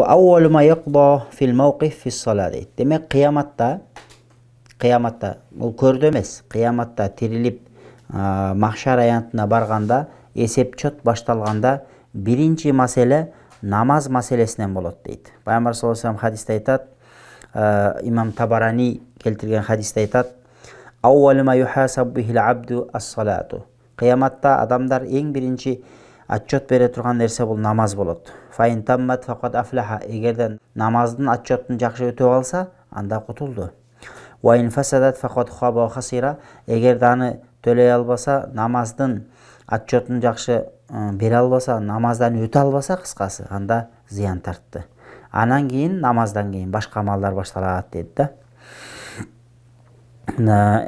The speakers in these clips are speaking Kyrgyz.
Awwalu ma yaqda fil mawqif fi s-salat deyт. Демек кыяматта бул көрдө эмес, кыяматта тирилип махшар аянтына барганда, эсеп-чот башталганда биринчи маселе намаз маселесинен болот дейт. Пайгамбар саллаллаху алейхи вассалам хадисте айтат, имам Табарани келтирген хадисте айтат: "Awwalu ma yuhasabu bihil abdu as-salatu." Кыяматта адамдар эң биринчи отчет бере турган нерсе бул намаз болот. Фаин таммат факат афлаха. Эгерден намаздын отчетун жакшы өтүп алса, анда кутулду. Ва ин фасадат факат хаба ва хасира. Эгерде аны төлөй албаса, намаздын отчетун жакшы бере албаса, намаздан өтө албаса, кыскасы, анда зыян тартты. Анан кийин намаздан кийин башка амалдар башталат дейт да.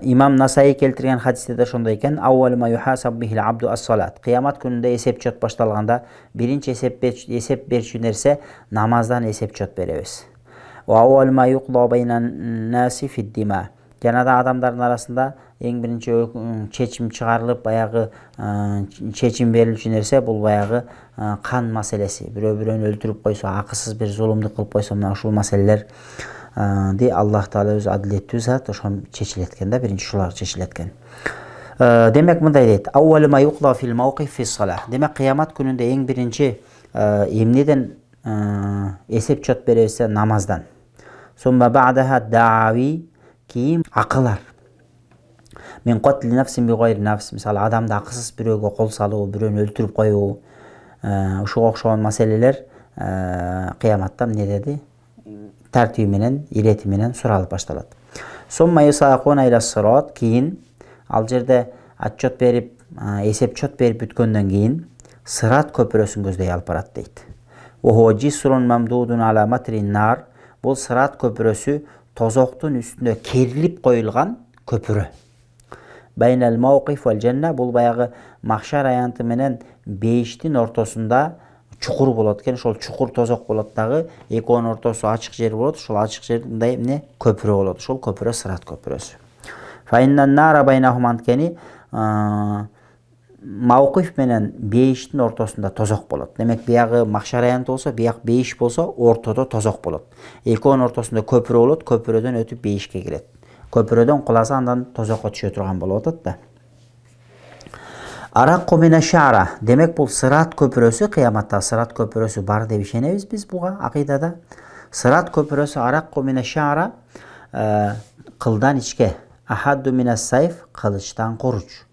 Имам Насаи келтирген хадисте да ошондой экен. Awwalu ma yuhasabu bihil abdu as-salat. Кыямат күнүндө эсеп-чот башталганда биринчи эсеп берчү нерсе намаздан эсеп-чот беребиз. Wa awwalu ma yuqda baynan nasi fid dima. Жана да адамдардын арасында эң биринчи чечим чыгарылып, баягы чечим берилчү нерсе бул баягы кан маселеси. Бирөө-бирөөнү өлтүрүп койсо, акысыз бир зулумдук кылып койсо, мына ушул маселелер Аллах Таала өзү адилеттүү зат, ошон чечилет экен да, биринчи ушулар чечилет экен. Демек мындай дейт: Awwalu ma yuqda fil mawqif fi s-salah. Демек кыямат күнүндө эң биринчи эмнеден эсеп-чот беребиз? Намаздан. Summa ba'daha da'awi, кийин акылар. Мен qatl nafsin bi ghayri nafs. Мисалы, адамды акысыз бирөөгө кол салуу, бирөөнү өлтүрүп коюу, ушуга окшогон маселелер кыяматта эмне деди? Тартиби менен, ирети менен суралып башталат. Summa yusaquna ila s-sirat. Кийин ал жерде отчет берип, эсеп-чот берип бүткөндөн кийин сырат көпүрөсүн көздөй алып барат дейт. Wa huwa jisrun mamdudun ala matrin nar. Бул сырат көпүрөсү тозоктун үстүнө керилип коюлган көпүрө. Байнал мауқиф вал жанна. Бул баягы махшар аянты менен бейиштин ортосунда чукур болот экен. Ошол чукур тозок болот дагы, экөөнүн ортосу ачык жер болот. Ошол ачык жерде мындай эмне көпүрө болот. Ошол көпүрө сырат көпүрөсү. Фаиннан нара байнахум анткени мауқиф менен бейиштин ортосунда тозок болот. Демек биягы махшар аянты болсо, бияк бейиш болсо, ортодо тозок болот. Экөөнүн ортосунда көпүрө болот, көпүрөдөн өтүп бейишке кирет. Көпүрөдөн куласа андан тозокко түшө турган болуп атат да. Аракку мина шара. Демек бул сырат көпүрөсү, кыяматта сырат көпүрөсү бар деп ишенебиз биз буга акыйдада. Сырат көпүрөсү аракку мина шара, кылдан ичке. Ахадду мина сайф, кылычтан куруч.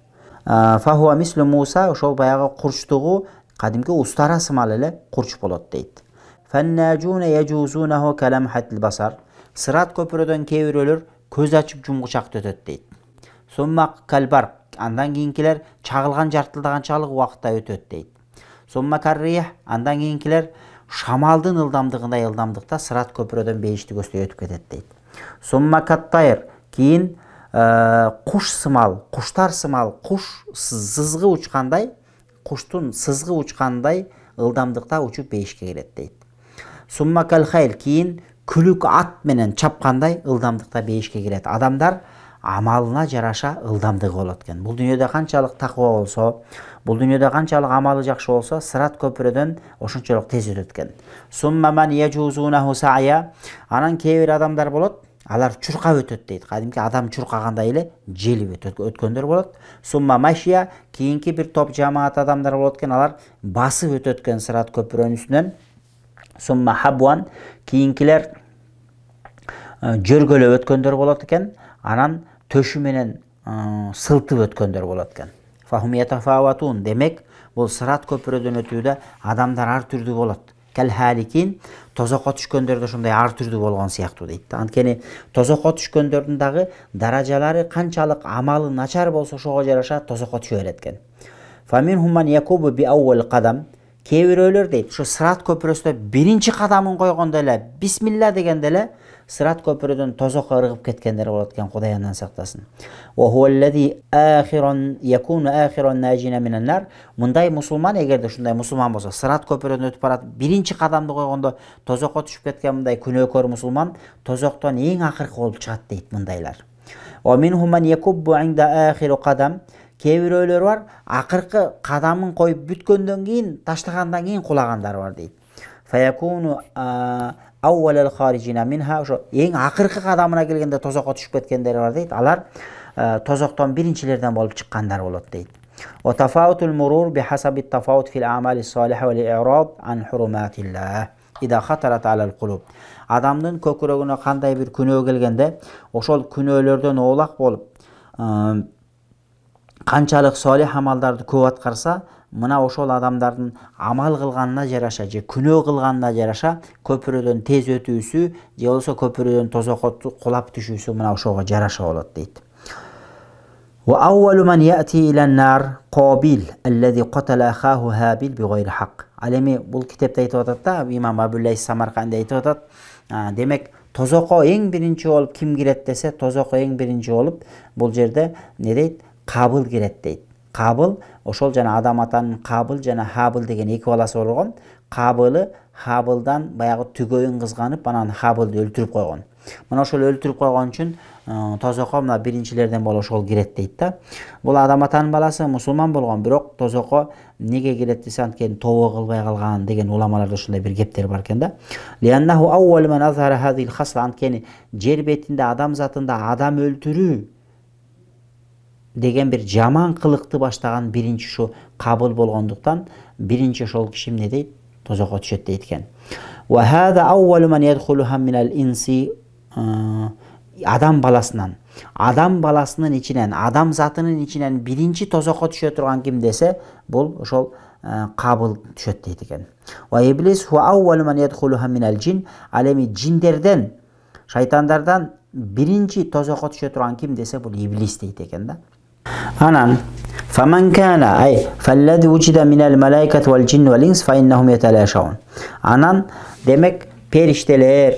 Фахуа мислу Муса, ошол баягы курчтугу кадимки устара сымал эле курч болот дейт. Фаннажуна яжузунаху каламхатил басар. Сырат көпүрөдөн кээ бирөөлөр көз ачып жумгучакты өтөт дейт. Сумма калбар, андан кийинкилер чагылган жартылдаганчалык убакытта өтөт дейт. Сумма каррих, андан кийинкилер шамалдын ылдамдыгындай ылдамдыкта сырат көпүрөдөн бейишти көздөй өтүп кетет дейт. Сумма каттайр, кийин куш сымал, куштар сымал, куш сызгы учкандай, куштун сызгы учкандай ылдамдыкта учуп бейишке кирет дейт. Сумма калхайл, кийин күлүк ат менен чапкандай ылдамдыкта бейишке кирет. Адамдар амалына жараша ылдамдыгы болот экен. Бул дүйнөдө канчалык таква болсо, бул дүйнөдө канчалык амалы жакшы болсо, сырат көпүрөдөн ошончолук тез өтөт экен. Сумма ман яжузунаху сая. Анан кээ бир адамдар болот, алар чуркап өтөт дейт. Кадимки адам чуркагандай эле желип өткөндөр болот. Сумма машия, кийинки бир топ жамаат адамдар болот экен, алар басып өтөт экен сырат көпүрөнүн үстүнөн. Сумма хабуан, кийинкилер жөргөлөп өткөндөр болот экен, анан төшү менен сылтып өткөндөр болот экен. Фахум ятафаватун. Демек, бул сырат көпүрөдөн өтүүдө адамдар ар түрдүү болот. Кал халикин, тозокко түшкөндөрдө ошондой ар түрдүү болгон сыяктуу дейт. Анткени тозокко түшкөндөрдүн дагы даражалары канчалык амалы начар болсо, ошого жараша тозокко түшө берет экен. Фаминхум ман якубу би аувал кадам. Кээ бирөөлөр дейт, ушу сырат көпүрөсүндө биринчи кадамын койгондо эле, бисмилла дегенде эле сырат көпүрөдөн тозокко ыргып кеткендер болот экен, Кудай андан сактасын. Ва хуаллади ахиран якуну ахиран najina минан нар. Мындай мусулман, эгерде ушундай мусулман болсо, сырат көпүрөдөн өтүп барат, биринчи кадамды койгондо тозокко түшүп кеткен мындай күнөөкөр мусулман тозоктон эң акыркы болуп чыгат дейт мындайлар. Ва минхум ман якуббу инда ахиру кадам. Кээ бирөөлөр бар, акыркы кадамын коюп бүткөндөн кийин, таштагандан кийин кулагандар бар дейт. фаякуну аввалал харижина минха, ошо эң акыркы кадамына келгенде тозокко түшүп кеткендер бар дейт. Алар тозоктон биринчилерден болуп чыккандар болот дейт. Ва тафаутул мурур бихасаби тафаут фил амали салиха вал и'рад ан хуруматилlah ида хатарат алал кулуб. Адамдын көкүрөгүнө кандай бир күнөө келгенде, ошол күнөөлөрдөн оолак болуп, канчалык салих амалдарды көп аткарса, мына ошол адамдардын амал кылганына жараша же күнөө кылганына жараша көпүрөдөн тез өтүүсү же болбосо көпүрөдөн тозокко кулап түшүүсү мына ошого жараша болот дейт. وأول من يأتي إلى النار قابيل الذي قتل أخاه هابيل بغير حق. Ал эми бул китепте айтып атат да, имам Абуллайс Самарканди айтып атат. Демек тозокко эң биринчи болуп ким кирет десе, тозокко эң биринчи болуп бул жерде не дейт? Кабыл кирет дейт. Кабыл ошол жана Адам атанын Кабыл жана Хабыл деген эки баласы болгон. Кабылы Хабылдан баягы түгөйүн кызганып, анан Хабылды өлтүрүп койгон. Мына ошол өлтүрүп койгон үчүн тозокко мына биринчилерден болуп ошол кирет дейт да. Бул Адам атанын баласы мусулман болгон, бирок тозокко неге кирет десе, анткени тобо кылбай калган деген уламаларда ушундай бир кептер бар экен да. Лианнаху аввал ман азхара хазил хасла, анткени жер бетинде адам затында адам өлтүрүү деген бир жаман кылыкты баштаган биринчи ушу Кабыл болгондуктан биринчи ошол киши эмне дейт? Тозокко түшөт дейт экен. Ва хада аввал ман ядхулуха минал инси, адам баласынан, адам баласынын ичинен, адам затынын ичинен биринчи тозокко түшө турган ким десе, бул ошол Кабыл түшөт дейт экен. Ва иблис хуа аввал ман ядхулуха минал джин, ал эми джиндерден, шайтандардан биринчи тозокко түшө турган ким десе, бул иблис дейт экен да. Анан فمن كان أي فالذي وجد من الملائكة والجن والإنس فإنهم يتلاشون. Анан демек периштелер,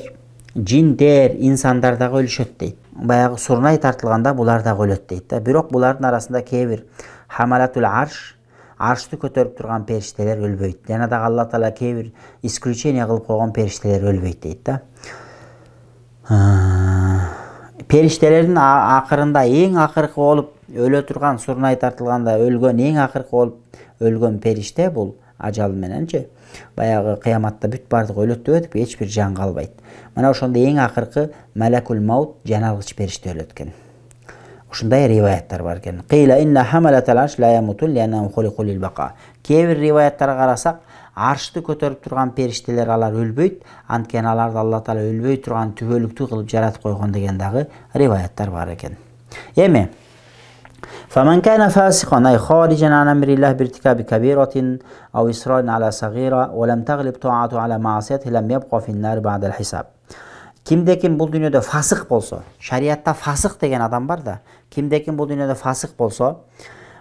джиндер, инсандар дагы өлүшөт дейт. Баягы сурнай тартылганда булар дагы өлөт дейт да. Бирок булардын арасында кээ бир хамалатул аршты көтөрүп турган периштелер өлбөйт. Жана дагы Алла Таала кээ бир исключение кылып койгон периштелер өлбөйт дейт да. Периштелердин акырында эң акыркы болуп өлө турган, сурнай тартылганда өлгөн, эң акыркы болуп өлгөн периште бул ажал мененчи баягы кыяматта бүт бардыгы өлөт деп өтүп эч бир жан калбайт. Мына ошондо эң акыркы Малакул Маут, жаналгыч периште өлөт экен. Ушундай риваяттар бар экен. Кыйла инна хамалатал арш ла ямутун лианнахум хулиқу лил бақа. Кээ бир риваяттарга карасак, аршты көтөрүп турган периштелер алар өлбөйт, анткени аларды Алла Таала өлбөй турган түбөлүктүү кылып жаратып койгон деген дагы риваяттар бар экен. Эми فمن كان فاسقا أي خارجا عن أمر الله بارتكاب كبيرة أو إصرار على صغيرة ولم تغلب طاعته على معصيته لم يبقى في النار بعد الحساب. Kimde kim bul dünyada fasık bolsa, şariatta fasık degen adam var da, kimde kim bul dünyada fasık bolsa,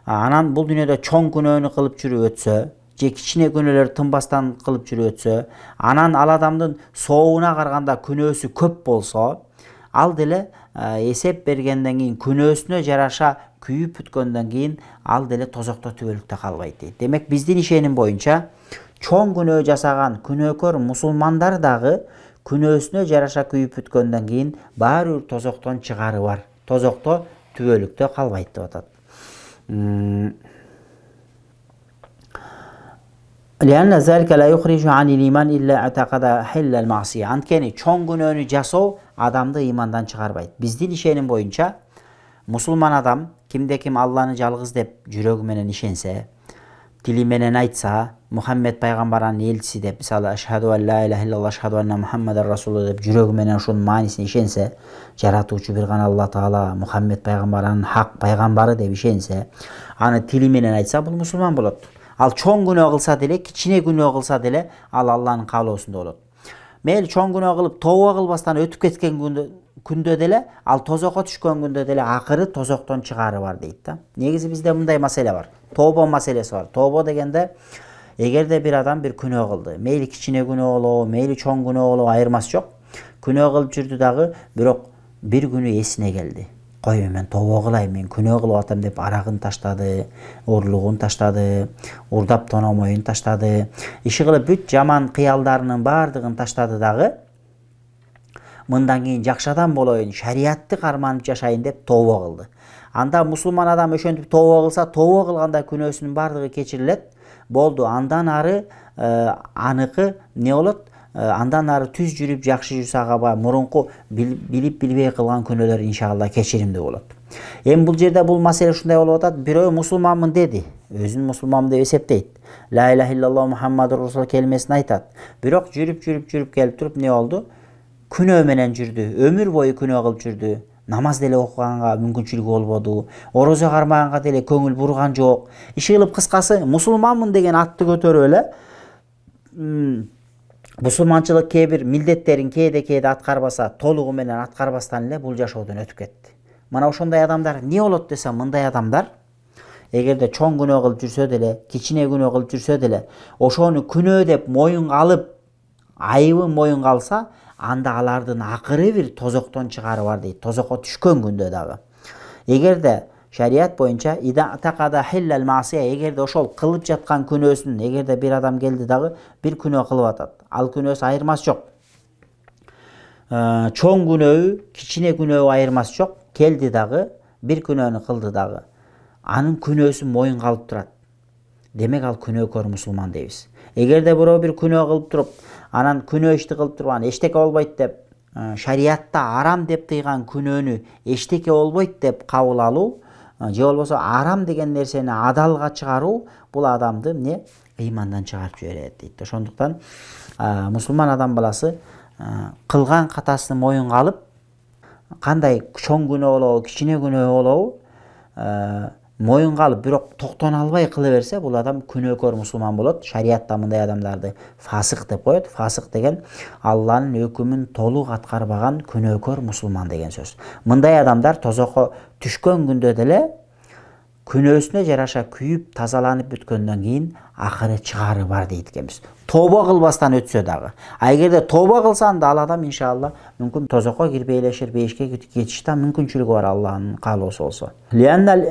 anan bul dünyada çoğun günöөнү kılıp жүрүп ötsө, же кичине күнөөлөр тынбастан кылып жүрүп өтсө, анан ал адамдын соогуна караганда күнөөсү көп болсо, ал деле эсеп бергенден кийин күнөөсүнө жараша күйүп бүткөндөн кийин ал деле тозокто түбөлүктө калбайт дейт. Демек биздин ишеним боюнча чоң күнөө жасаган күнөөкөр мусулмандар дагы күнөөсүнө жараша күйүп бүткөндөн кийин баары бир тозоктон чыгары бар. Тозокто түбөлүктө калбайт деп атат. لأن ذلك لا يخرج عن الإيمان إلا اعتقد حل المعصية. Анткени чоң күнөөнү жасоо адамды имандан чыгарбайт. Биздин ишеним боюнча мусулман адам кимде ким Алланы жалгыз деп жүрөгү менен ишенсе, тили менен айтса, Мухаммед пайгамбарынын элчиси деп, мисалы ашхаду ан ла иляха иллаллах ашхаду анна Мухаммадар расулу деп жүрөгү менен ошонун маанисине ишенсе, жаратуучу бир гана Алла Таала, Мухаммед пайгамбарынын хак пайгамбары деп ишенсе, аны тили менен айтса, бул мусулман болот. Ал чоң күнөө кылса деле, кичине күнөө кылса деле, ал Алланын каалоосунда болот. Мейли чоң күнөө кылып, тооба кылбастан өтүп кеткен күндө деле, ал тозокко түшкөн күндө деле акыры тозоктон чыгары бар дейт да. Негизи бизде мындай маселе бар. Тооба маселеси бар. Тооба дегенде, эгерде бир адам бир күнөө кылды, мейли кичине күнөө болобу, мейли чоң күнөө болобу, айырмасы жок. Күнөө кылып жүрдү дагы, бирок бир күнү эсине келди. Кой мен тобо кылайм, мен күнөө кылып атам деп арагын таштады, урлугун таштады, урдап тономоюн таштады, иши кылып бүт жаман кыялдарынын баардыгын таштады дагы. Мындан кийин жакшы адам болоюн, шариатты карманып жашайын деп тобо кылды. Анда мусулман адам ошентип тобо кылса, тобо кылганда күнөөсүнүн баардыгы кечирилет. болду. Андан ары аныкы не болот? Андан ары түз жүрүп жакшы жүрсө ага мурунку билип билбей кылган күнөөлөр иншалла кечиримдүү болот. Эми бул жерде бул маселе ушундай болуп атат. Бирөө мусулманмын деди. Өзүн мусулманмын деп эсептейт. Ла иляха иллаллаху Мухаммадур Расул келмесин айтат. Бирок жүрүп келип туруп не болду? Күнөө менен жүрдү. Өмүр бою күнөө кылып жүрдү. Намаз деле окуганга мүмкүнчүлүгү болбоду. Орозо кармаганга деле көңүл бурган жок. Иши кылып кыскасы мусулманмын деген атты көтөрүп эле мусулманчылык кээ бир милдеттерин кээде аткарбаса, толугу менен аткарбастан эле бул жашоодон өтүп кетти. Мына ошондой адамдар эмне болот десе, мындай адамдар эгерде чоң күнөө кылып жүрсө деле, кичине күнөө кылып жүрсө деле, ошону күнөө деп моюнга алып, айыбын моюнга алса, анда алардын акыры бир тозоктон чыгары бар дейт. Тозокко түшкөн күндө дагы. Эгерде шарият боюнча эгерде ошол кылып жаткан күнөөсүн, эгерде бир адам келди дагы бир күнөө кылып атат, ал күнөөсү айырмасы жок. Чоң күнөөбү, кичине күнөөбү айырмасы жок. Келди дагы бир күнөөнү кылды дагы, анын күнөөсүн моюнга алып турат. Демек ал күнөөкөр мусулман дейбиз. Эгерде бирөө бир күнөө кылып туруп, анан күнөө ишти кылып туруп, анан эчтеке болбойт деп, шариятта арам деп тыйган күнөөнү эчтеке болбойт деп кабыл алуу, же болбосо арам деген нерсени адалга чыгаруу, бул адамды эмне? Ыймандан чыгарып жиберет дейт. Ошондуктан мусулман адам баласы кылган катасын моюнга алып, кандай чоң күнөө болобу, кичине күнөө болобу, моюнга алып, бирок токтоно албай кыла берсе, бул адам күнөөкөр мусулман болот. Шариятта мындай адамдарды фасык деп коет. Фасык деген Алланын өкүмүн толук аткарбаган күнөөкөр мусулман деген сөз. Мындай адамдар тозокко түшкөн күндө деле күнөөсүнө жараша күйүп, тазаланып бүткөндөн кийин акыры чыгары бар дейт экенбиз. Тоба кылбастан өтсө дагы. А эгерде тоба кылса анда ал адам иншалла мүмкүн тозокко кирбей элешир, бейишке кетиш да мүмкүнчүлүгү бар, Алланын каалоосу болсо. Лианнал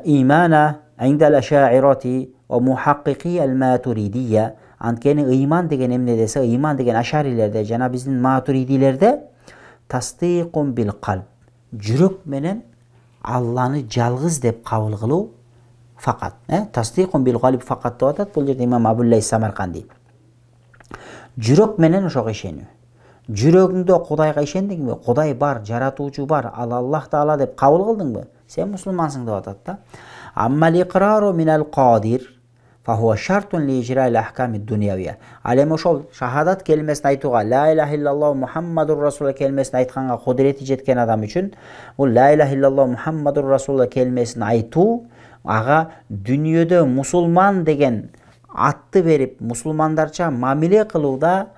имана индал ашаирати ва мухаққиқи ал-матуридия. Анткени ыйман деген эмне десе, ыйман деген ашарилерде жана биздин матуридилерде тастиқун бил қалб. Жүрөк менен Алланы жалгыз деп кабыл кылуу факат. Тастиқун бил қалб факат деп атат. Бул жерде имам Абуллайс Самарканди. Жүрөк менен ошого ишенүү. Жүрөгүңдө Кудайга ишендиңби? Кудай бар, жаратуучу бар, ал Аллах таала деп кабыл кылдыңбы? Сен мусулмансың деп атат да. Аммал иқрару минал қадир фа хуа шартун ли ижраил ахками дунявия. Ал эми ошол шахадат келмесин айтууга, ла иляха иллаллаху Мухаммадур Расул келмесин айтканга кудурети жеткен адам үчүн бул ла иляха иллаллаху Мухаммадур Расул келмесин айтуу ага дүйнөдө мусулман деген атты берип, мусулмандарча мамиле кылууда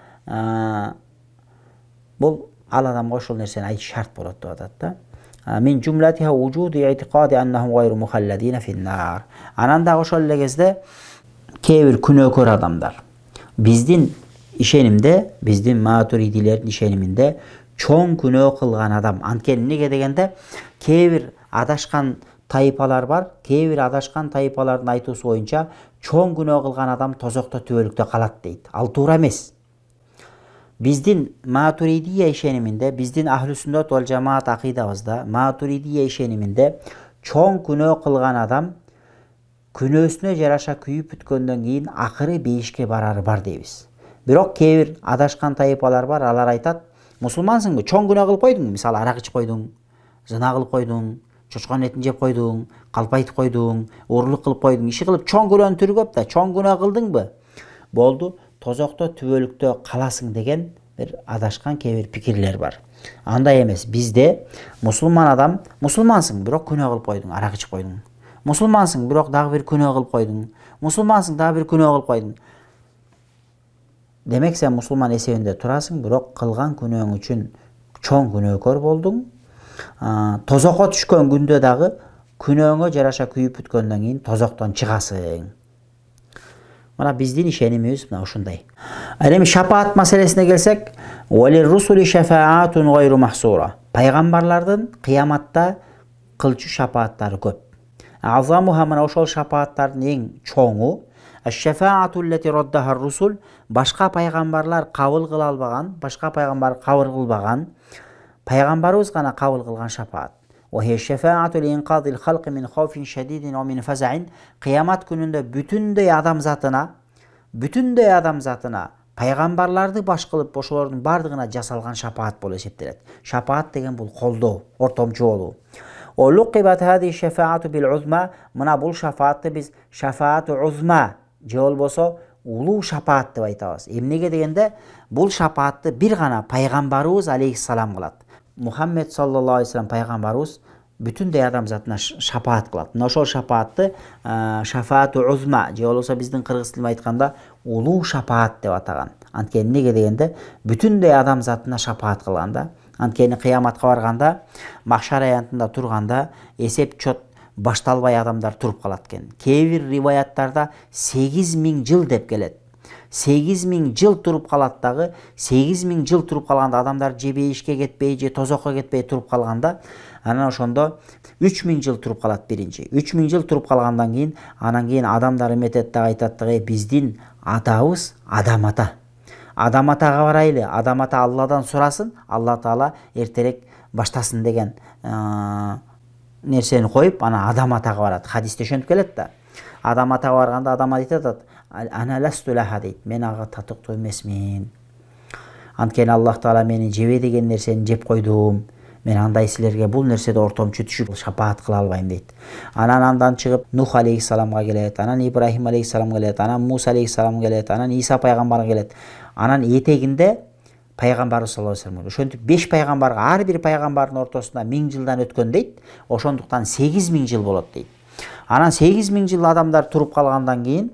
бул ал адамга ошол нерсени айтыш шарт болот деп атат да. Мин жумлатиха вужуди иътиқади аннахум гайру мухалладина фин-нар. Анан да ошол эле кезде кээ бир күнөөкөр адамдар биздин ишенимде, биздин матуридилердин ишениминде чоң күнөө кылган адам. Анткени эмнеге дегенде кээ бир адашкан тайпалар бар. Кээ бир адашкан тайпалардын айтуусу боюнча чоң күнөө кылган адам тозокто түбөлүктө калат дейт. Ал туура эмес. Биздин матуридия ишениминде, биздин ахлу сүннат вал жамаат акыйдабызда матуридия ишениминде чоң күнөө кылган адам күнөөсүнө жараша күйүп бүткөндөн кийин акыры бейишке барары бар дейбиз. Бирок кээ бир адашкан тайпалар бар, алар айтат, мусулмансыңбы? Чоң күнөө кылып койдуңбу? Мисалы арак ичип койдуң, зына кылып койдуң, чочконун этин жеп койдуң, калп айтып койдуң, урлук кылып койдуң, иши кылып чоң күнөөнүн түрү көп да, чоң күнөө кылдыңбы? Болду, тозокто түбөлүктө каласың деген бир адашкан кээ бир пикирлер бар. Андай эмес. Бизде мусулман адам, мусулмансың, бирок күнөө кылып койдуң, арак ичип койдуң. Мусулмансың, бирок дагы бир күнөө кылып койдуң. Мусулмансың, дагы бир күнөө кылып койдуң. Демек сен мусулман эсебинде турасың, бирок кылган күнөөң үчүн чоң күнөөкөр болдуң. Тозокко түшкөн күндө дагы күнөөңө жараша күйүп бүткөндөн кийин тозоктон чыгасың. Мына биздин ишенимибиз мына ушундай. Эми шафаат маселесине келсек, валир русули шафаатун гайру махсура. Пайгамбарлардын кыяматта кылчу шафааттары көп. Азамуха мына ошол шафааттардын эң чоңу аш-шафаату лати раддаха русул, башка пайгамбарлар кабыл кыла албаган, башка пайгамбар кабыл кылбаган, пайгамбарыбыз гана кабыл кылган шафаат. وهي الشفاعة لإنقاذ الخلق من خوف شديد ومن فزع. Кыямат күнүндө бүтүндөй адамзатына пайгамбарларды баш кылып ошолордун бардыгына жасалган шапаат болуп эсептелет. Шапаат деген бул колдоо, ортомчу болуу. Лукибат хади шафаату бил узма. Мына бул шафаатты биз шафаату узма же болбосо улуу шапаат деп айтабыз. Эмнеге дегенде бул шапаатты бир гана пайгамбарыбыз алейхиссалам кылат. Мухаммед саллаллаху алейхи вассалам пайгамбарыбыз бүтүндөй адамзатына шапаат кылат. Мына ошол шапаатты шафаату узма же болбосо биздин кыргыз тилинде айтканда улуу шапаат деп атаган. Анткени эмнеге дегенде бүтүндөй адамзатына шапаат кылган да. Анткени кыяматка барганда, махшар аянтында турганда эсеп-чот башталбай адамдар туруп калат экен. Кээ бир риваяттарда 8000 жыл деп келет. 8000 жыл туруп калат дагы, 8000 жыл туруп калганда адамдар же бейишке кетпей, же тозокко кетпей туруп калганда, анан ошондо 3000 жыл туруп калат биринчи. 3000 жыл туруп калгандан кийин, анан кийин адамдар эметет дагы айтат дагы, биздин атабыз Адам ата. Адам атага барайлы, Адам ата Алладан сурасын, Алла Таала эртерээк баштасын деген нерсени коюп, анан Адам атага барат. Хадисте ошентип келет да. Адам атага барганда Адам айтат, ана ласту лаха дейт, мен ага татыктуу эмесмин. Анткени Аллах Таала мени жебе деген нерсени жеп койдум. Мен андай силерге бул нерседе ортомчу түшүп шапаат кыла албайм дейт. Андан чыгып Нух алейхиссаламга келет, анан Ибрахим алейхиссаламга келет, анан Муса алейхиссаламга келет, анан Иса пайгамбарга келет. Анан этегинде пайгамбар саллаллаху алейхи вассалам. Ошентип 5 пайгамбарга ар бир пайгамбардын ортосунда 1000 жылдан өткөн дейт. Ошондуктан 8000 жыл болот дейт. Анан 8000 жыл адамдар туруп калгандан кийин,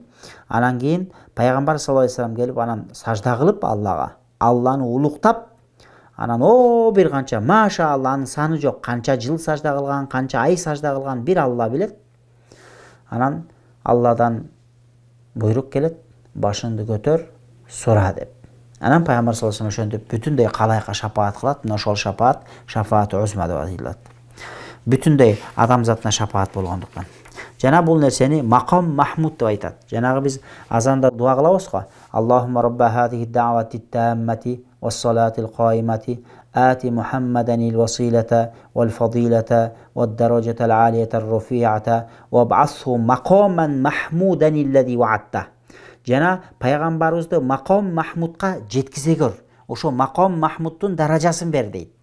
анан кийин пайгамбар саллаллаху алейхи вассалам келип анан сажда кылып Аллага, Алланы улуктап, анан бир канча машаалла анын саны жок, канча жыл сажда кылган, канча ай сажда кылган бир Алла билет. Анан Алладан буйрук келет, башыңды көтөр, сура деп. Анан пайгамбар саллаллаху алейхи вассалам ошентип бүтүндөй калайыкка шапаат кылат. Мына ошол шапаат шафаату узма деп аталат. Бүтүндөй адамзатына шапаат болгондуктан. Жана бул нерсени макам махмуд деп айтат. Жанагы биз азанда дуа кылабыз го. Аллахумма рабба хадихи да'вати таммати вас-салати al-qaimati ати Мухаммадан il-василата wal-fadilata wad-darajata al-aliyata ar-rafi'ata wab'athhu maqaman mahmudan alladhi wa'adta. Жана пайгамбарыбызды макам махмудка жеткизе көр. Ошо макам махмуддун даражасын бер дейт.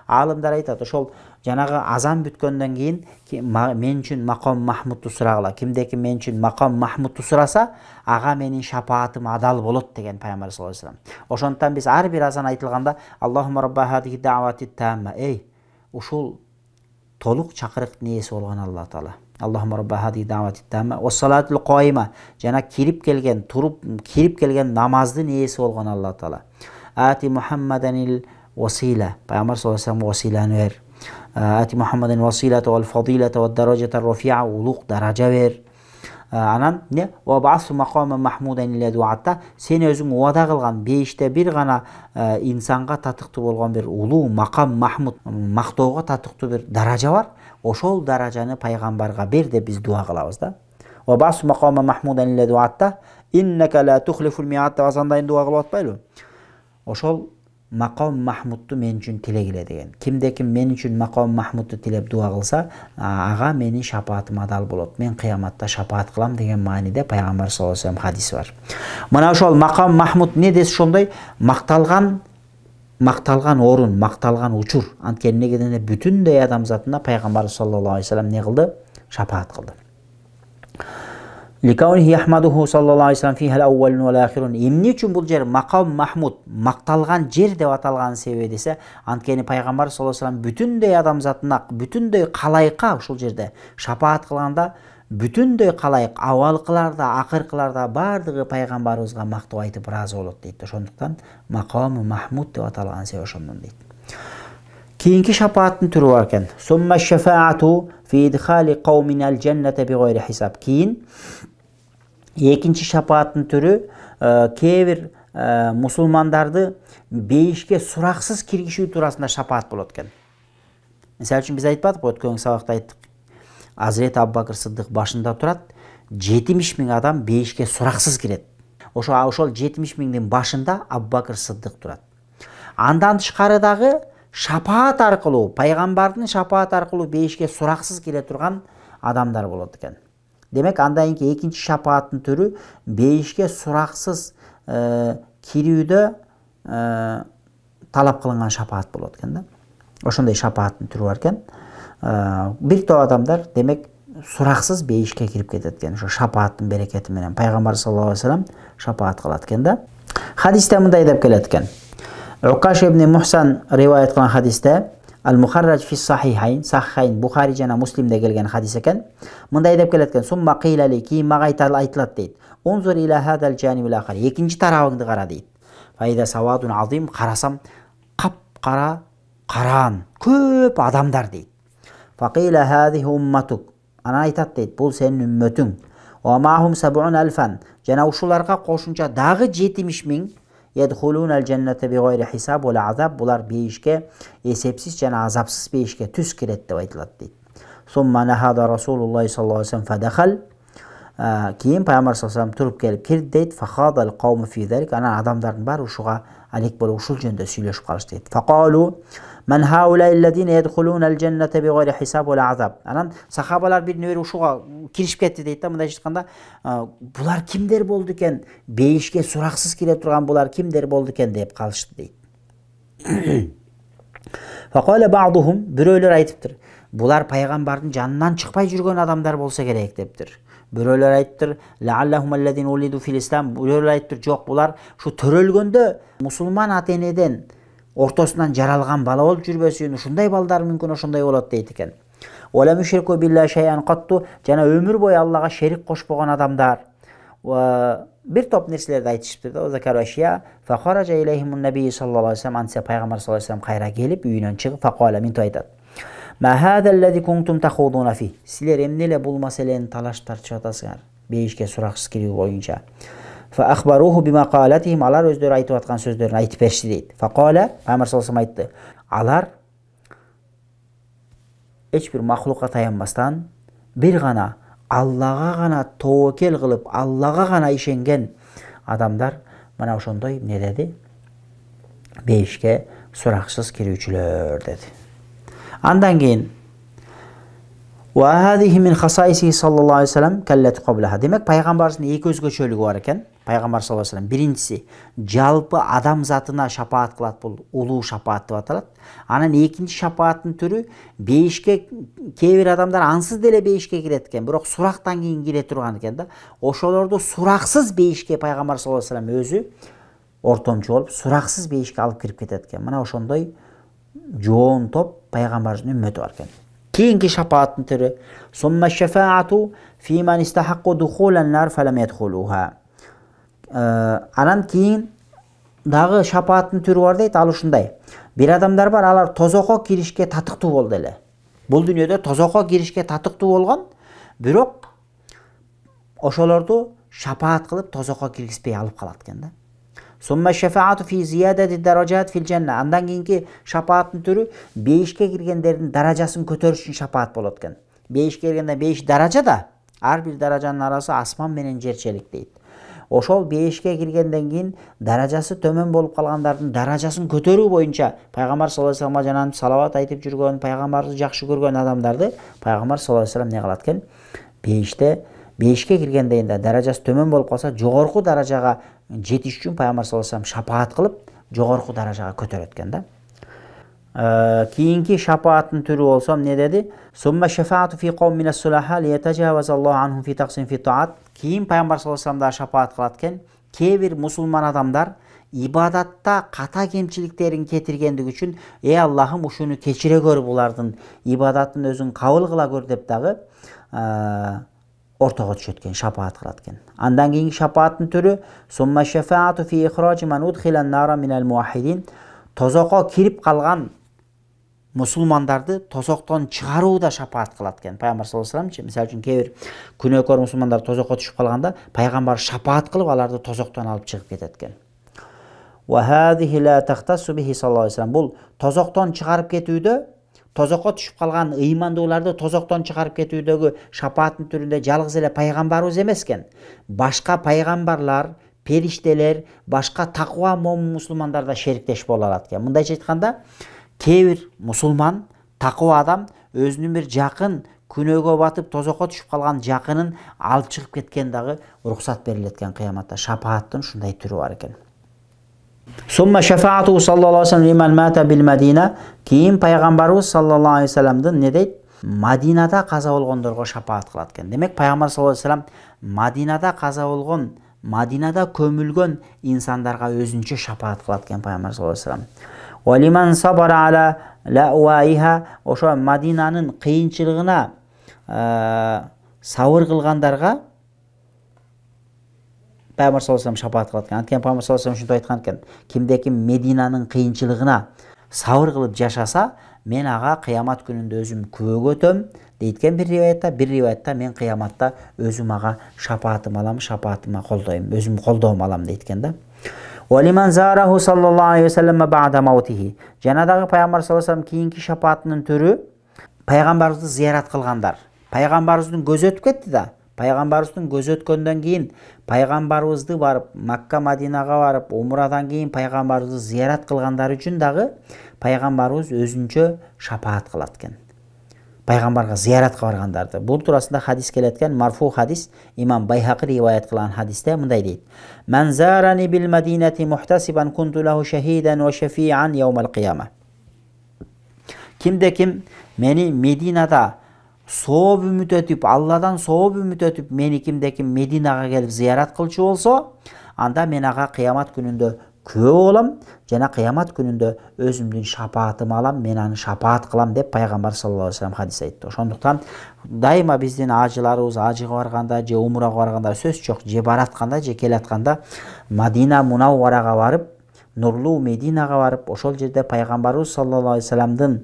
Алымдар айтат, ошол жанагы азан бүткөндөн кийин мен үчүн макам махмудду сурагыла. Кимдеки мен үчүн макам махмудду сураса, ага менин шапаатым адал болот деген пайгамбар саллаллаху алейхи вассалам. Ошондуктан биз ар бир азан айтылганда Аллахумма рабба хадихи да'вати тамма. Ушул толук чакырыктын ээси болгон Алла Таала. Аллахумма рабба хадихи да'вати тамма вас-салати al-qaima. Жана кирип келген намаздын ээси болгон Алла Таала. Ати Мухаммадан il-wasila. Пайгамбар саллаллаху алейхи вассалам василаны бер. Ати Мухаммадан василата wal-fadilata wad-darajata ar-rafi'a. Улук даража бер. Анан не? Ваб'асу мақама махмудан аллади вa'adta. Сен өзүң уада кылган 5те бир гана инсанга татыктуу болгон бир улуу макам махмуд, мактоого татыктуу бир даража бар. Ошол даражаны пайгамбарга бер деп биз дуа кылабыз да. Ваб'асу мақама махмудан аллади вa'adta. Иннака ла тухлифул ми'ад. Азандайын дуа кылып атпайлы? Ошол макам махмудду мен үчүн тилегиле деген. Кимде-ким мен үчүн макам махмудду тилеп дуа кылса, ага менин шапаатым адал болот. Мен кыяматта шапаат кылам деген мааниде пайгамбар саллаллаху алейхи вассалам хадиси бар. Мына ошол макам махмуд не десе ошондой макталган орун, макталган учур. Анткени эмнеге дегенде бүтүндөй адамзатына пайгамбар саллаллаху алейхи вассалам не кылды? Шапаат кылды. Ликаунихи яхмадуху саллаллаху алейхи вассалам фиха ал-аввалун вал-ахирун. Эмне үчүн бул жер макам махмуд, макталган жер деп аталган себеби десе, анткени пайгамбар саллаллаху алейхи вассалам бүтүндөй адамзатына, бүтүндөй калайыкка ушул жерде шапаат кылганда, бүтүндөй калайык авалкыларда, акыркыларда бардыгы пайгамбарыбызга мактоо айтып ыраазы болот дейт. Ошондуктан макам махмуд деп аталган себеби ошондон дейт. Кийинки шапааттын түрү бар экен. Сумма шафаату фи идхали каумин ал-жанната бигайри хисаб. Кийин экинчи шапааттын түрү кээ бир мусулмандарды бейишке сураксыз киргизүү туурасында шапаат болот экен. Мисалы үчүн биз айтпадык, өткөн сабакта айттык. Азирет Абу Бакыр Сыддык башында турат, 70 000 адам бейишке сураксыз кирет. Ошол 70 000-дин башында Абу Бакыр Сыддык турат. Андан тышкары дагы шапаат аркылуу, пайгамбардын шапааты аркылуу бейишке сураксыз кире турган адамдар болот экен. Демек андан кийинки экинчи шапааттын түрү бейишке сураксыз кирүүдө талап кылынган шапаат болот экен да. Ошондой шапааттын түрү бар экен. Бир топ адамдар демек сураксыз бейишке кирип кетет экен. Ошо шапааттын берекети менен пайгамбар саллаллаху алейхи вассалам шапаат кылат экен да. Хадисте мындай деп келет экен. Укаш ибн Мухсан риваят кылган хадисте Ал-Мухарраж фи Сахихайн, Сахихайн Бухари жана Муслимде келген хадис экен. Мындай деп келет экен. Сумма кыйлали, кийин мага айтылат дейт. Унзур иля хадал жанибил ахар. Экинчи тарабыңды кара дейт. Файда савадун азим, карасам кап-кара, караан, көп адамдар дейт. Факила хадихи умматук. Ана айтат дейт, бул сенин үммөтүң. Ва махум 70,000. Жана ушуларга кошумча дагы 70,000 يدخلون الجنة بغير حساب ولا عذاب. Булар бейишке эсепсиз жана азапсыз бейишке түз кирет деп айтылат дейт. ثم نهض رسول الله صلى الله عليه وسلم فدخل. Кийин пайгамбар саллаллаху алейхи туруп келип кирди дейт. فخاض القوم في ذلك. Анан адамдардын баары ушуга алек болуп ушул жөнүндө сүйлөшүп калышты дейт. فقالوا من هؤلاء الذين يدخلون الجنة بغير حساب ولا عذاب. Анан сахабалар бирине бири ушуга киришип кетти дейт да. Мындай айтканда, булар кимдер болду экен? Бейишке сураксыз кире турган булар кимдер болду экен деп калышты дейт. فقال بعضهم, бирөөлөр айтыптыр. Булар пайгамбардын жанынан чыкпай жүргөн адамдар болсо керек дептир. Бирөөлөр айтыптыр, лааллахум аллазина улиду фил ислам. Бирөөлөр айтыптыр, жок, булар ушу төрөлгөндө мусулман ата-энеден ортосунан жаралган бала болуп жүрбөсүн, ушундай балдар мүмкүн ошондой болот дейт экен. Вала мушрику биллахи шайан катту, жана өмүр бою Аллага шерик кошпогон адамдар. Бир топ нерселерди айтышыптыр да. Закарашия фа хаража илейхимун наби саллаллаху алейхи вассалам. Анса пайгамбар саллаллаху алейхи вассалам кайра келип үйүнөн чыгып факала минту айтат. Ма хада аллази кунтум тахудуна фи. Силер эмне эле бул маселени талаш тартышып атасыңар? Бейишке сураксыз кирүү боюнча. Фа ахбаруху бима қалатихим. Алар өздөрү айтып аткан сөздөрүн айтып беришти дейт. Факала, пайгамбар саллаллаху алейхи вассалам айтты. Алар эч бир махлукка таянбастан бир гана Аллага гана тоокел кылып, Аллага гана ишенген адамдар мына ошондой эмне деди? Бейишке сураксыз кирүүчүлөр деди. Андан кийин ва хадихи мин хасайси саллаллаху алейхи вассалам каллат каблаха. Демек пайгамбардын эки өзгөчөлүгү бар экен. Пайгамбар саллаллаху алейхи вассалам биринчиси жалпы адам затына шапаат кылат, бул улуу шапаат деп аталат. Анан экинчи шапааттын түрү бейишке кээ бир адамдар ансыз деле бейишке кирет экен, бирок сурактан кийин кире турган экен да. Ошолорду сураксыз бейишке пайгамбар саллаллаху алейхи вассалам өзү ортомчу болуп сураксыз бейишке алып кирип кетет экен. Мына ошондой жоон топ пайгамбардын үммөтү бар экен. Кийинки шапааттын түрү сумма шафаату фи ман истахакку духулан нар фалам ядхулуха. Анан кийин дагы шапааттын түрү бар дейт. Ал ушундай. Бир адамдар бар, алар тозокко киришке татыктуу болду эле. Бул дүйнөдө тозокко киришке татыктуу болгон, бирок ошолорду шапаат кылып тозокко киргизбей алып калат экен да. Сумма шафаату фи зиядати даражат фил жанна. Андан кийинки шапааттын түрү бейишке киргендердин даражасын көтөрүш үчүн шапаат болот экен. Бейишке киргенде 5 даража да, ар бир даражанын арасы асман менен жерчелик дейт. Ошол бейишке киргенден кийин даражасы төмөн болуп калгандардын даражасын көтөрүү боюнча пайгамбар саллаллаху алейхи вассалам жанан салават айтып жүргөн, пайгамбарды жакшы көргөн адамдарды пайгамбар саллаллаху алейхи вассалам не кылат экен? Бейишке киргендейинде даражасы төмөн болуп калса, жогорку даражага жетиш үчүн пайгамбар саллаллаху алейхи вассалам шапаат кылып, жогорку даражага көтөрөт экен да. Кийинки шапааттын түрү болсо эмне деди? Сумма шафаату фи кавм минас сулаха лиятажаваз Аллаху анхум фи тaqsim фи таат. Кийин пайгамбар саллаллаху алейхи вассалам шапаат кылат экен. Кээ бир мусулман адамдар ибадатта ката кемчиликтерин кетиргендиги үчүн Аллахым ушуну кечире көр, булардын ибадатын өзүң кабыл кыла көр деп дагы ортого түшөт экен, шапаат кылат экен. Андан кийинки шапааттын түрү сумма шафаату фи ихражи ман удхилан нара минал муахидин. Тозокко кирип калган мусулмандарды тозоктон чыгарууда шапаат кылат экен. Пайгамбар саллаллаху алейхи вассалам, мисалы үчүн кээ бир күнөөкөр мусулмандар тозокко түшүп калганда, пайгамбар шапаат кылып аларды тозоктон алып чыгып кетет экен. Ва хадихи ла тахтасу бихи саллаллаху алейхи вассалам. Бул тозоктон чыгарып кетүүдө, тозокко түшүп калган ыймандууларды тозоктон чыгарып кетүүдөгү шапааттын түрүндө жалгыз эле пайгамбарыбыз эмес экен. Башка пайгамбарлар, периштелер, башка таква момун мусулмандар да шериктеш боло алат экен. Мындайча айтканда, кээ бир мусулман такыба адам өзүнүн бир жакын күнөөгө батып тозокко түшүп калган жакынын алып чыгып кеткен дагы уруксат берилет экен кыяматта. Шапааттын ушундай түрү бар экен. Сумма шафаату саллаллаху алейхи ва саллям лиман мата бил Мадина. Кийин пайгамбарыбыз саллаллаху алейхи ва салламдын не дейт? Мадинада каза болгондорго шапаат кылат экен. Демек пайгамбар саллаллаху алейхи ва саллям Мадинада каза болгон, Мадинада көмүлгөн инсандарга өзүнчө шапаат кылат экен пайгамбар саллаллаху алейхи ва саллям. Ва лиман сабара ала лауайха, ошо Мадинанын кыйынчылыгына сабыр кылгандарга пайгамбар саллаллаху алейхи ва саллям шапаат кылат экен. Анткени пайгамбар саллаллаху алейхи ва саллям ушинтип айткан экен: кимде-ким Мединанын кыйынчылыгына сабыр кылып жашаса, мен ага кыямат күнүндө өзүм күбөгө өтөм дейт бир риваятта мен кыяматта өзүм ага шапаатым алам, шапаатыма колдойм, өзүм колдоом алам дейт экен да. Валиман зараху саллаллаху алейхи ва саллям ба'да маутихи. Жана дагы пайгамбар саллаллаху алейхи ва саллям кийинки шапаатынын түрү пайгамбарыбызды зыярат кылгандар. Пайгамбарыбыздын көзү өтүп кетти да. Пайгамбарыбыздын көзү өткөндөн кийин пайгамбарыбызды барып Макка, Мадинага барып умрадан кийин пайгамбарыбызды зыярат кылгандар үчүн дагы пайгамбарыбыз өзүнчө шапаат кылат экен. Пайгамбарга зыяратка баргандарды. Бул туурасында хадис келет экен, марфу хадис, имам Байхақи риваят кылган хадисте мындай дейт: "Ман зарани бил Мадинати мухтасибан кунту лаху шахидан ва шафиан яумал кияма." Кимде-ким мени Мединада сооп үмүт өтүп, Алладан сооп үмүт өтүп, мени кимде-ким Мединага келип зыярат кылчу болсо, анда мен ага кыямат күнүндө күбө болом жана кыямат күнүндө өзүмдүн шапаатымы алам, мен аны шапаат кылам деп пайгамбар саллаллаху алейхи ва саллям хадис айтты. Ошондуктан дайыма биздин ажыларыбыз ажыга барганда же умрага барганда сөз жок, же баратканда же келатканда Мадина Мунавварага барып, нурлуу Мединага барып, ошол жерде пайгамбарыбыз саллаллаху алейхи ва саллямдын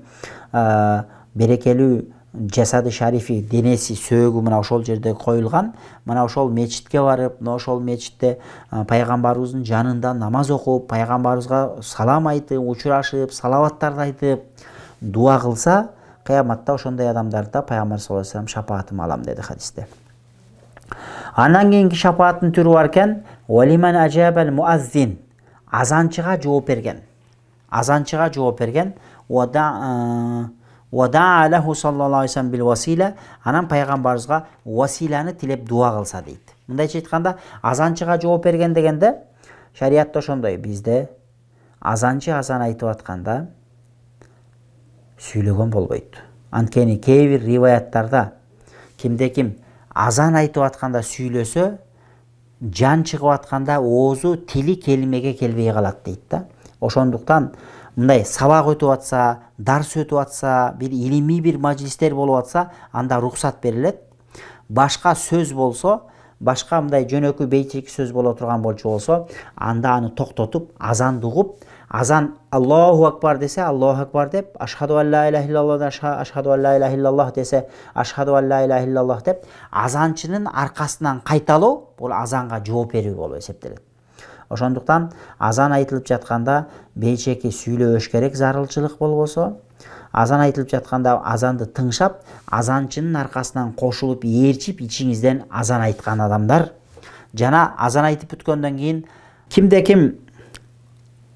берекелүү жасады шарифи, денеси, сөөгү мына ошол жерде коюлган. Мына ошол мечитке барып, мына ошол мечитте пайгамбарыбыздын жанында намаз окуп, пайгамбарыбызга салам айтып, учурашып, салаваттарды айтып, дуа кылса, кыяматта ошондой адамдарда пайгамбар саллаллаху алейхи ва саллям шапаатым алам деди хадисте. Андан кийинки шапааттын түрү бар экен: "Валиман ажабал муаззин", азанчыга жооп берген. Азанчыга жооп берген. Вада алаху саллаллаху алейхи ва саллям бил васила, анан пайгамбарыбызга василаны тилеп дуа кылса дейт. Мындайча айтканда, азанчыга жооп берген дегенде шариятта ошондой, бизде азанчы азан айтып атканда сүйлөгөн болбойт. Анткени кээ бир риваяттарда кимде-ким азан айтып атканда сүйлөсө, жан чыгып атканда оозу, тили келимеге келбей калат дейт да. Ошондуктан мындай сабак өтүп атса, дарс өтүп атса, бир илимий бир мажлистер болуп атса, анда рухсат берилет. Башка сөз болсо, башка мындай жөнөкөй бейчеки сөз боло турган болчу болсо, анда аны токтотуп, азанды угуп, азан Аллаху акбар десе, Аллаху акбар деп, ашхаду ан ла иляха иллаллах, ашхаду ан ла иляха иллаллах десе, ашхаду ан ла иляха иллаллах деп, азанчынын аркасынан кайталоо бул азанга жооп берүү болуп эсептелет. Ошондуктан азан айтылып жатканда бейчеки сүйлөбөш керек, зарылчылык болбосо, азан айтылып жатканда азанды тыңшап, азанчынын аркасынан кошулуп, ээрчип, ичиңизден азан айткан адамдар, жана азан айтып бүткөндөн кийин кимде-ким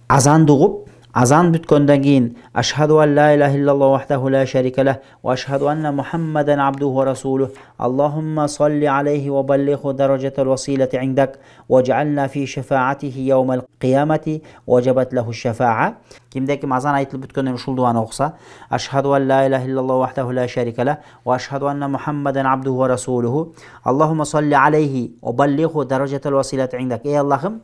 азанды угуп, азан бүткөндөн кийин ашхаду ан ла иляха иллаллах вахдаху ла шарика лах ва ашхаду анна Мухаммадан абдуху ва расулух Аллахумма салли алейхи ва баллигху даражатал василати индак вадж'ална фи шафаатихи яумал киямати ваджабат лаху шафаа. Кимде-ким азан айтылып бүткөндөн ушул дуаны окуса, ашхаду ан ла иляха иллаллах вахдаху ла шарика лах ва ашхаду анна Мухаммадан абдуху ва расулуху Аллахумма салли алейхи ва баллигху даражатал василати индак. Эй Аллахым,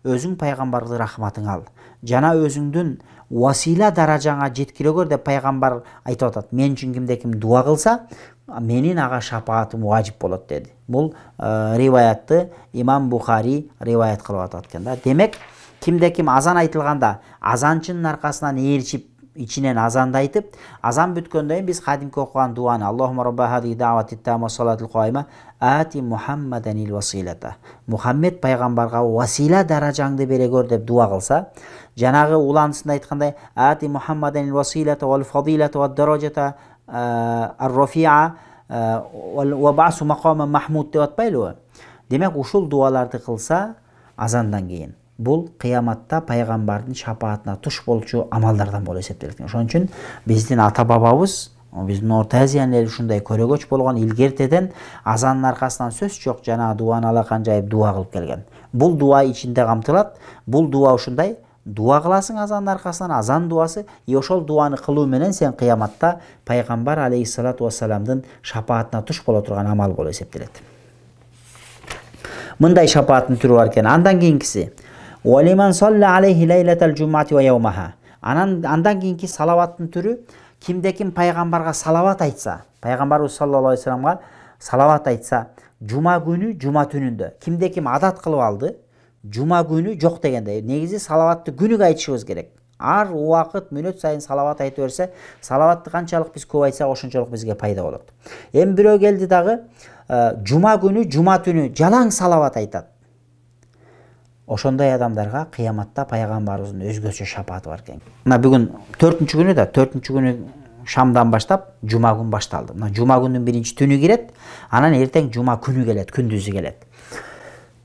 өзүң пайгамбарды рахматың ал, жана өзүңдүн васила даражаңа жеткирөгөр деп пайгамбар айтып атат. Мен үчүн кимде-ким дуа кылса, менин ага шапаатым важип болот деди. Бул риваятты имам Бухари риваят кылып атат экен да. Демек, кимде-ким азан айтылганда азанчынын аркасынан ээрчип, ичинен азанды айтып, азан бүткөндөн кийин биз кадимки окуган дуаны Аллахумма робба хадиhi даъвати тамма салатул кайма ати Мухаммаданил василата. Мухаммед пайгамбарга васила даражаңды бере көр деп дуа кылса, жанагы уландысында айткандай ати Мухаммаданил василата вал фадилата вад даражата ар-рафиа ва бa'су мақама махмуд деп атпайлыбы? Демек ушул дуаларды кылса азандан кийин бул кыяматта пайгамбардын шапаатына туш болчу амалдардан болуп эсептелет. Ошон үчүн биздин ата бабабыз, биздин Орто Азиянын эли ушундай көрөгөч болгон, илгертеден азандын аркасынан сөз жок жанагы дуаны алакан жайып дуа кылып келген. Бул дуа ичинде камтылат. Бул дуа ушундай: дуа кыласың азандын аркасынан, азан дуасы, ошол дуаны кылуу менен сен кыяматта пайгамбар алейхиссалату вассаламдын шапаатына туш боло турган амал болуп эсептелет. Мындай шапааттын түрү бар экен. Андан кийинкиси: "Валиман салла алейхи лейлатал жумати ва яумаха". Андан кийинки салаваттын түрү: кимде-ким пайгамбарга салават айтса, пайгамбарыбыз саллаллаху алейхи вассаламга салават айтса, жума күнү, жума түнүндө, кимде-ким адат кылып алды, жума күнү жок дегенде, негизи салаватты күнүгө айтышыбыз керек. Ар убакыт мүнөт сайын салават айта берсе, салаватты канчалык биз көп айтсак, ошончолук бизге пайда болот. Эми бирөө келди дагы жума күнү, жума түнү жалаң салават айтат. Ошондой адамдарга кыяматта пайгамбарыбыздын өзгөчө шапааты бар экен. Мына бүгүн 4-күнү да, 4-күнү шамдан баштап жума күн башталды. Мына жума күнүнүн биринчи түнү кирет, анан эртең жума күнү келет, күндүзү келет.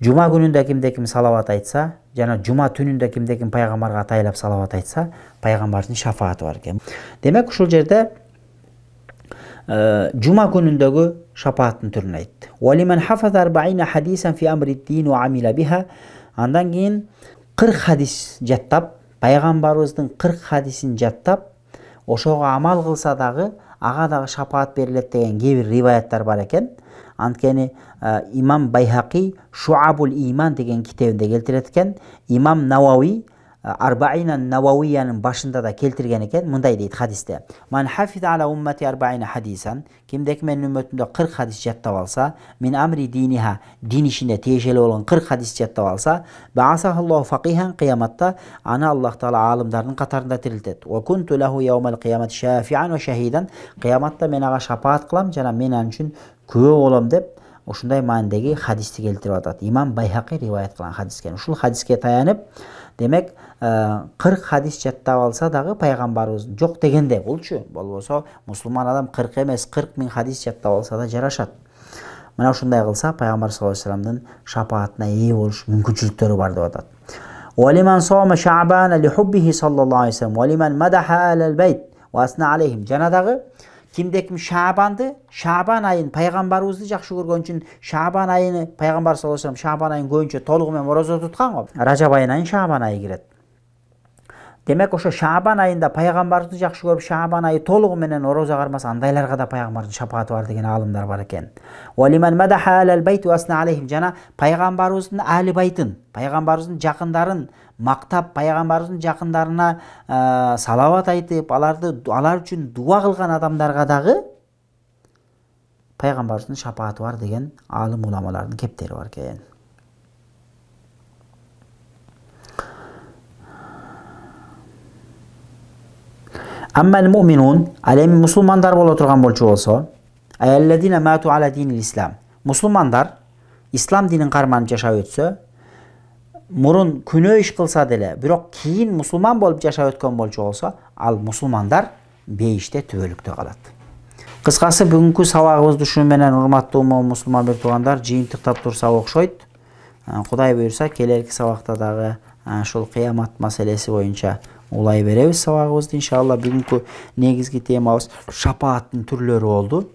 Жума күнүндө кимде-ким салават айтса, жана жума түнүндө кимде-ким пайгамбарга атайлап салават айтса, пайгамбардын шафааты бар экен. Демек ушул жерде жума күнүндөгү шапааттын түрүн айтты. Валиман хафаза 40 хадисан фи амрид-дин ва амила биха. Андан кийин 40 хадис жаттап, пайгамбарыбыздын 40 хадисин жаттап, ошого амал кылса дагы ага дагы шапаат берилет деген кээ бир риваяттар бар экен. Анткени имам Байхақи Шуабул Иман деген китебинде келтирет экен. Имам Навауи Арбаина Навауиянын башында да келтирген экен. Мындай дейт хадисте: "Ман хафиза ала уммати 40 хадисан", кимдеки менин үммөтүмдө 40 хадис жаттап алса, мин амри диниха, дин ишине тиешелүү болгон 40 хадис жаттап алса, баасахаллаху фақихан, кыяматта аны Аллах таала аалымдардын катарында тирилтет. Ва кунту лаху яумал кыямат шафиан ва шахидан, кыяматта мен ага шапаат кылам жана мен ан үчүн күбө болом деп ушундай маанидеги хадисти келтирип атат. Имам Байхақи риваят кылган хадис экен. Ушул хадиске таянып, демек 40 хадис жаттап алса дагы пайгамбарыбыз жок дегенде булчу. Болбосо мусулман адам 40 эмес 40 000 хадис жаттап алса да жарашат. Мына ушундай кылса пайгамбар саллаллаху алейхи вассаламдын шапаатына ээ болуш мүмкүнчүлүктөрү бар деп атат. Валиман сома шаабана ли хуббихи саллаллаху алейхи вассалам валиман мадаха алал байт ва асна алейхим. Жана дагы кимде-ким Шаабан айын пайгамбарыбызды жакшы көргөн үчүн Шаабан айыны пайгамбар саллаллаху алейхи вассалам Шаабан айын көбүнчө толугу менен орозо туткан го. Ражаб айынан Шаабан айы кирет. Демек ошо Шаабан айында пайгамбарыбызды жакшы көрүп Шаабан айы толугу менен орозо кармаса, андайларга да пайгамбардын шапааты бар деген аалымдар бар экен. Валиман мадаха алал байт ва асна алейхим. Жана пайгамбарыбыздын али байтын, пайгамбарыбыздын жакындарын мактап, пайгамбарыбыздын жакындарына салават айтып, алар үчүн дуа кылган адамдарга дагы пайгамбарыбыздын шапааты бар деген аалым уламалардын кептери бар экен. Аммал муъминун, ал эми мусулмандар боло турган болчу болсо, аялладина мату ала динил ислам. Мусулмандар ислам динин карманып жашап өтсө, мурун күнөө иш кылса деле, бирок кийин мусулман болуп жашап өткөн болчу болсо, ал мусулмандар бейиште түбөлүктө калат. Кыскасы бүгүнкү сабагыбызды ушу менен урматтуу мусулман бир туугандар жыйынтыктап турсак окшойт. Кудай буйрса, келерки сабакта дагы ушул кыямат маселеси боюнча улай беребиз сабагыбызды иншалла. Бүгүнкү негизги темабыз шапааттын түрлөрү болду.